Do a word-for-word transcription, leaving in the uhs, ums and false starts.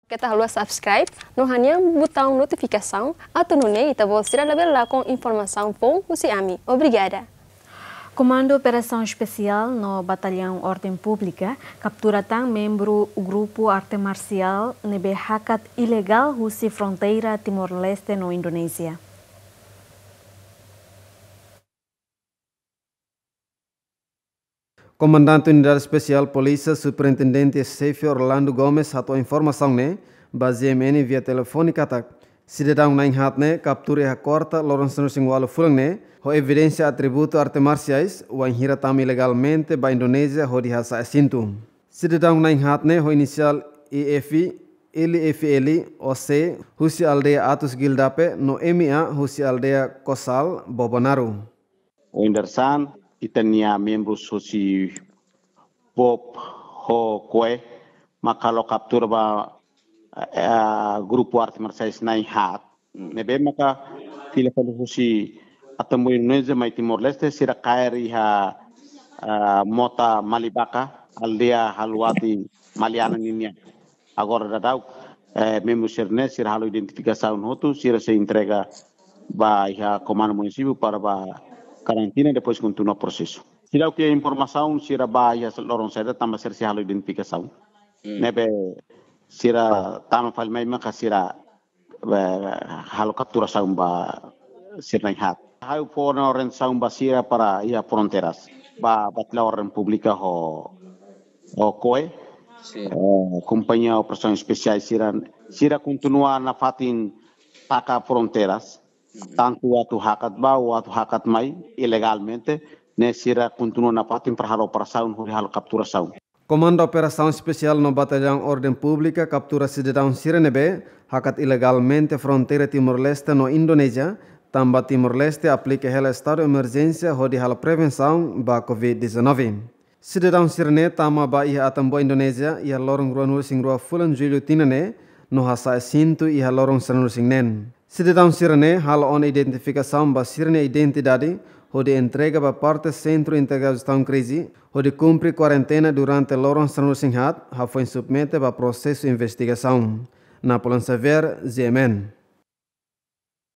Keta haluha subscribe no hanehan butaun notifikasaun, atu nune'e ita-boot sira labele lakon informasaun foun husi ami. Obrigada. Komandu Operasaun Espesiál no Batallaun Orden Públika kaptura tan membru grupu arte marsiál ne'ebé hakat ilegál husi fronteira Timor-Leste no Indonézia. Komandante Unidade Espesiál Polísia, Superintendente Xefe Orlando Gomes hato'o informasaun ne'e ba G M N via telefone katak sidadaun na'in-haat ne'e kaptura iha kuarta loron sanulu-resin-ualu fulan ne'e ho evidénsia atributu arte marsiais, wainhira tama ilegalmente ba Indonézia hodi hasa'e asentu. Sidadaun na'in-haat ne'e ho inisiál I F, L F L, O C, husi aldeia Atus Gildape, no M A husi aldeia Kosal, Bobonaro. Oin dadeer-saan, ita-nia membrus husi BOP ho KOE maka halo kaptura ba, eh, grupu arte marsiais na'in-haat ne'ebé maka fila fali husi Atambua, Indonézia, mai Timor-Leste, sira kaer iha, eh, mota Malibaka, aldeia Haluati Maliana ninian. Agora daudaun, eh, membru sira-ne'e sira halo identifikasaun hotu, sira sei entrega ba iha komandu munisípiu para ba karantina, depois kontinua prosesu. Seidauk iha informasaun sira ba iha loron saida tanba sira sei halo identifikasaun. Hmm. Ne'ebé sira tama fali mai maka sira, eh, halo kapturasaun ba sira na'in-haat. Ha'u fó ona orientasaun ba sira para iha fronteiras, ba Batallaun Orden Públika ho, ho KOE. Sin. Eh, Kompañia Operasaun Espesiál sira, sira kontinua nafatin taka fronteiras, mhm, tantu atu hakat ba ou atu hakat mai ilegalmente, ne'e sira kontinua nafatin para halo operasaun hodi halo kapturasaun. Komandu Operasaun Espesiál no Batallaun Orden Públika kaptura sidadaun sira ne'ebé hakat ilegalmente fronteira Timor-Leste no Indonézia, tanba Timor-Leste aplika hela estadu emerjénsia hodi halo prevensaun ba COVID dezanove. Sidadaun sira-ne'e tama ba iha Atambua, Indonézia, iha loron ruanulu-resin-rua fulan Jullu tinan ne'e, no hasa'e asentu iha loron sanulu-resin-neen. Sidadaun sira-ne'e halo ona identifikasaun ba sira-nia identidade, hodi entrega ba parte Sentru Integradu Jestaun Krize, hodi kumpre kuarentena durante loron sanulu-resin-haat, hafoin submete ba prosesu investigasaun. Napoleon Xavier, G M N.